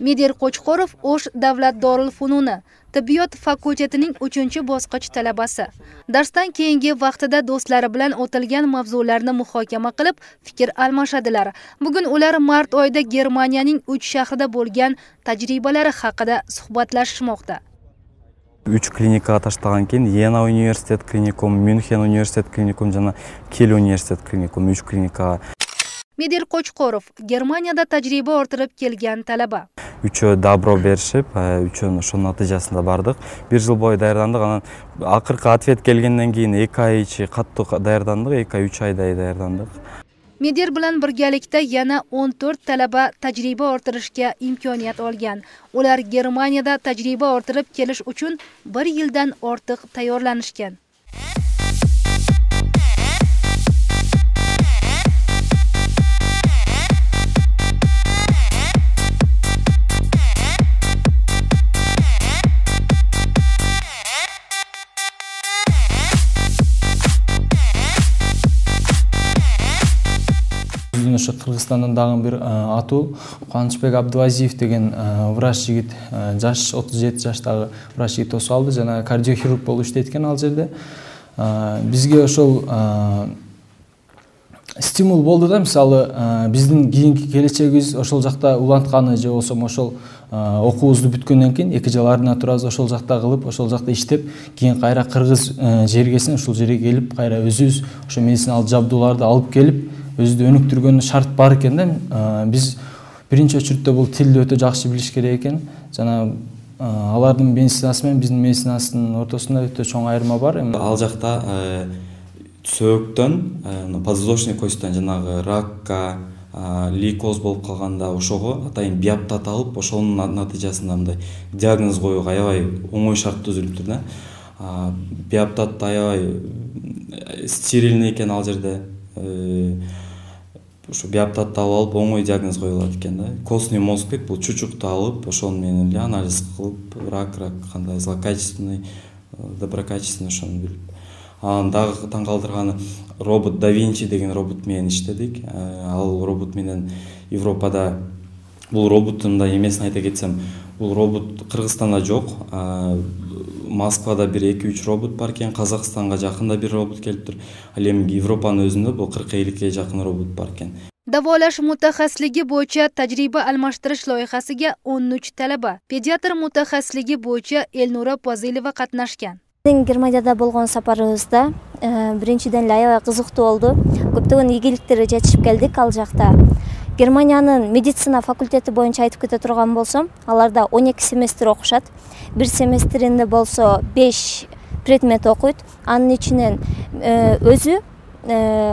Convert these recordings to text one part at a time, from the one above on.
Медер Qo'chqorov O'sh davlat Dorul-Fununi tibbiyot fakultetining 3-bosqich talabasi. Darsdan keyingi vaqtida do'stlari bilan o'tilgan mavzularni muhokama qilib, fikr almashadilar. Bugun ular mart oyida Germaniyaning 3 shahrida bo'lgan tajribalari haqida suhbatlashmoqda. 3 klinika таштаган кийин Йена университет клиникум, Мюнхен университет клиникум жана Киль университет клиникум 3 клиника. Медер Qo'chqorov Germaniyada tajriba orttirib kelgan talaba. Үчөө добро беришип, үчөө ошонун натыйжасында бардык. 1 жыл бою даярдандык. Анан акыркы ответ келгенден кийин 2 ай ичи каттуу даярдандык, 2 ай 3 айдай даярдандык. Медер bilan birgalikda yana 14 talaba tajriba orttirishga imkoniyat olgan. Ular Germaniyada tajriba orttirib kelish uchun 1 yildan ortiq tayyorlanishgan. Ошо Кыргызстандан дагы бир атуу Кубанычбек Абдывазиев деген врач жигит, жаш 37 жаштагы врач жигит тосуп алды жана кардиохирург болуп иштейт экен ал жерде. Бизге ошол стимул болду да, мисалы биздин кийинки келечегибиз ошол жакта улантканы же болсо ошол окуубузду бүткөндөн кийин 2 жыл арына турабыз, ошол жакта кылып, ошол жакта иштеп, кийин кайра кыргыз жергесине ушул жерге келип, кайра өзүбүз ошо медициналык жабдууларды алып келип, өзүдү өнүктүргөн шарт бар экен да. Биз биринчи очередте бул тилди өтө жакшы билиш керек экен. Жана алардын медицинасы менен биздин медицинасынын ортосунда өтө чоң айырма бар. Ал жакта сөөктөн, подвздошный костьтан жанагы ракка, лейкоз болуп калганда ошого атайын биоптат алып, ошонун натыйжасында мындай диагноз коюуга аябай оңой шарт түзүлүптүр да. Биоптат аябай стерильный экен ал жерде. Ошо биоптатты алып оңой диагноз коюлат экен да. Костный мозг дейт, бул чучукту алып, ошону менен эле анализ кылып, рак кандай злокачественный, доброкачественный ошону билип. Анан дагы таң калтырганы робот Да Винчи деген робот менен иштедик. Ал робот менен Европада бул роботтун да эмесин айта кетсем, бул робот Кыргызстанда жок. Москвада бир 2-3 робот бар экен, Казакстанга жакында бир робот келиптир. Ал эми Европанын өзүндө бул 40-50 жакын робот бар экен. Даволаш mutaxassisligi bo'yicha tajriba almashtirish loyihasiga 13 talaba, pediatr mutaxassisligi bo'yicha Elnura Pozilova qatnashgan. Германияда болгон сапарыбызда биринчиден эле аябай кызыктуу болду. Көптөгөн ийгиликтерге жетишип келдик ал жакта. Германиянын медицина факультети боюнча айтып кете турган болсом, аларда 12 семестр окушат. Бир семестринде болсо 5 предмет окуйт. Анын ичинен өзү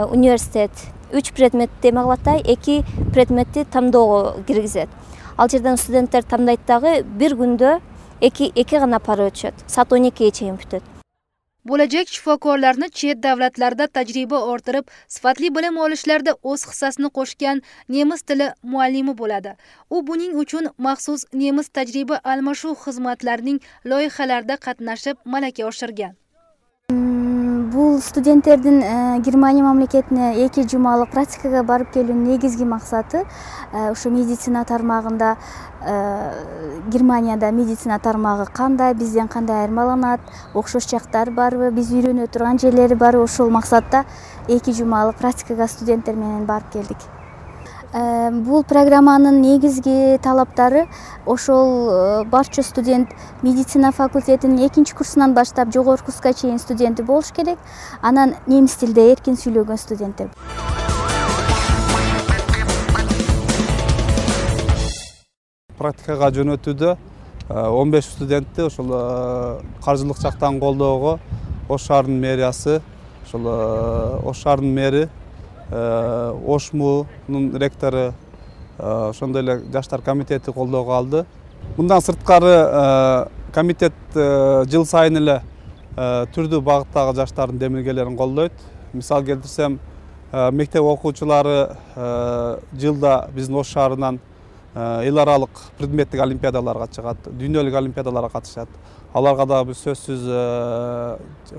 университет 3 предмет эме кылат да, 2 предметти тамдоого киргизет. Ал жерден студенттер тамдайт дагы, бир күндө 2 гана пара өтүшөт. Саат 12ге чейин бүтөт. Bo'lajak shifokorlarni chet davlatlarda tajriba orttirib, sifatli bilim olishlarda o'z hissasini qo'shgan nemis tili muallimi bo'ladi. U buning uchun maxsus nemis tajriba almashuv xizmatlarining loyihalarida qatnashib, malaka oshirgan. Бул студенттердин Германия мамлекетине 2 жумалык практикага барып келүүнүн негизги максаты ошо медицина тармагында Германияда медицина тармагы кандай, бизден кандай айырмаланат, окшош жактары барбы, биз үйрөнө турган жерлери барбы, ошол максатта 2 жумалык практикага студенттер менен барып келдик. Бул программанын негизги талаптары ошол барча студент медицина факультетинин 2 курсунан баштап жогорку курска чейин студенти болуш керек. Анан немис тилде эркин сүйлөгөн студенттер. Практикага жөнөтүүдө 15 студентти ошол каржылык жактан колдоого Ош шаарынын мэриясы, ошол Ош шаарынын мэри, Ошмунун ректору, ошондой эле жаштар комитети колдоого алды. Мындан сырткары комитет жыл сайын эле түрдүү багыттагы жаштардын демилгелерин колдойт. Мисал келтирсем, мектеп окуучулары жылда биздин Ош шаарынан эл аралык предметтик олимпиадаларга чыгат, дүйнөлүк олимпиадаларга катышат. Аларга да биз сөзсүз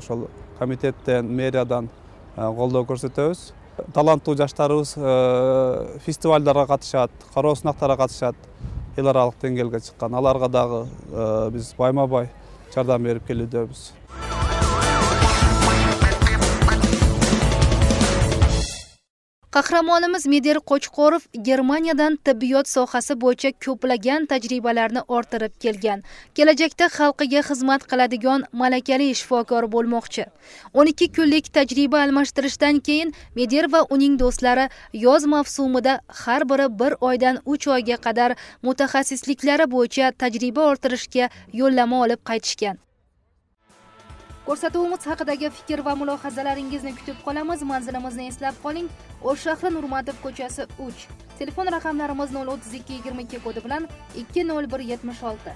ошол комитеттен, мэриядан колдоо көрсөтөбүз. Таланттуу жаштарыбыз фестивалдарга катышат, кароо сынактарга катышат. эл аралык деңгээлге чыккан. Аларга дагы биз байма-бай жардам берип келүүдөбүз. Qahramonimiz Medar Qo'chqorov Germaniyadan tibbiyot sohasi bo'yicha ko'plagan tajribalarni orttirib kelgan. Kelajakda xalqiga xizmat qiladigan malakali shifokor bo'lmoqchi. 12 kunlik tajriba almashtirishdan keyin Medar va uning do'stlari yoz mavsumida har biri 1 oydan 3 oyga qadar mutaxassisliklari bo'yicha tajriba orttirishga yo'llanma olib qaytishgan. Ko'rsatuvimiz haqidagi fikr va mulohazalaringizni kutib qolamiz. Manzilimizni eslab qoling. O'sh shahri Nurmatov ko'chasi 3. Telefon raqamlarimiz 032 22 kodi bilan 20176.